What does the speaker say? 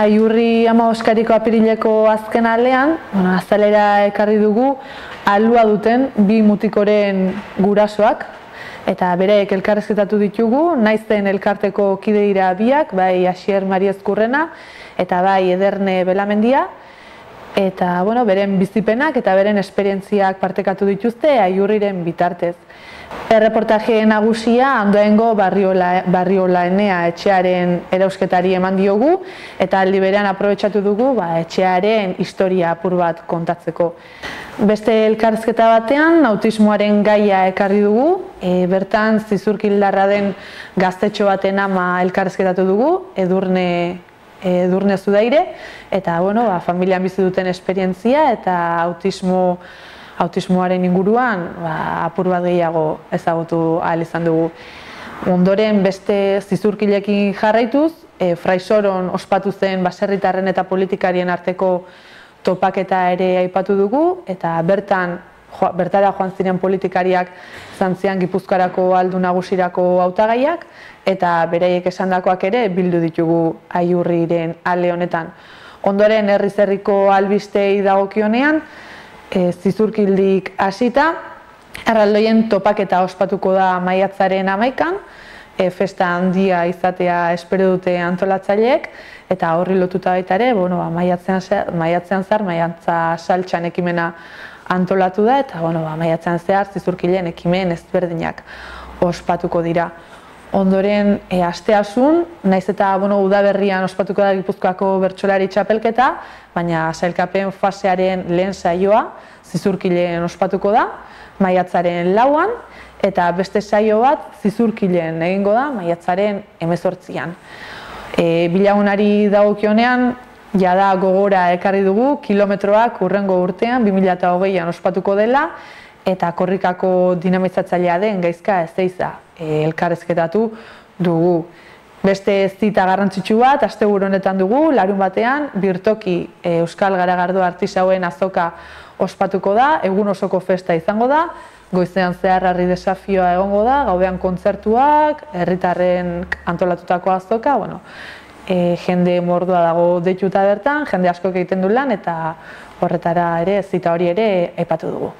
Aiurri Amaboskariko apirileko azken aldean, azalera ekarri dugu alua duten bi mutikoren gurasoak, eta bereek elkarrizketatu ditugu, naizen elkarteko kide dira biak, bai Asier Mariezkurrena eta bai Ederne Belamendia, eta beren bizipenak eta beren esperientziak partekatu dituzte Aiurriren bitartez. Erreportaje nagusia Andoaingo Barriolaenea etxearen erausketari eman diogu eta aldi berean aprobetxatu dugu etxearen historia apur bat kontatzeko. Beste elkarrizketa batean autismoaren gaia ekarri dugu, bertan zizurkildarra den gaztetxo baten ama elkarrizketatu dugu, Edurne Zudaire, eta familian bizi duten esperientzia eta autismoaren inguruan apur bat gehiago ezagutu ahal izan dugu. Ondoren beste zizurkilekin jarraituz, Fraisoron ospatu zen baserritarren eta politikarien arteko topaketa ere aipatu dugu, eta bertara joan ziren politikariak zantzian Gipuzkoarako aldu nagusirako hautagaiak, eta beraiek esandakoak ere bildu ditugu Aiurriren ale honetan. Ondoren herriz-herriko albistei dagokionean, zizurkildik hasita, erraldoien topaketa ospatuko da maiatzaren 11an, festa handia izatea espero dute antolatzaileek, eta horri lotuta baita ere, maiatzean zehar, maiatza saltxan ekimena antolatu da, eta maiatzean zehar zizurkileen ekimen ezberdinak ospatuko dira. Ondoren, asteasun, naiz eta udaberrian ospatuko da Gipuzkoako bertsolari txapelketa, baina sailkapen fasearen lehen saioa zizurkileen ospatuko da, maiatzaren 4an, eta beste saio bat zizurkileen egingo da, maiatzaren 18an. Bilagunari dagokionean, jada gogora ekarri dugu, kilometroak hurrengo urtean, 2020an ospatuko dela, eta korrikako dinamizatzailea den Gaizka Ezeiza elkarrizketatu dugu. Beste zita garrantzitsu bat, asteburu honetan dugu, larunbatean, birtoki Euskal Garagardo artisauen azoka ospatuko da, egun osoko festa izango da, goizean zehar harri desafioa egongo da, gaudean kontzertuak, herritarren antolatutako azoka, jende mordoa dago deituta bertan, jende askok egiten du lan, eta horretara ere, zita hori ere aipatu dugu.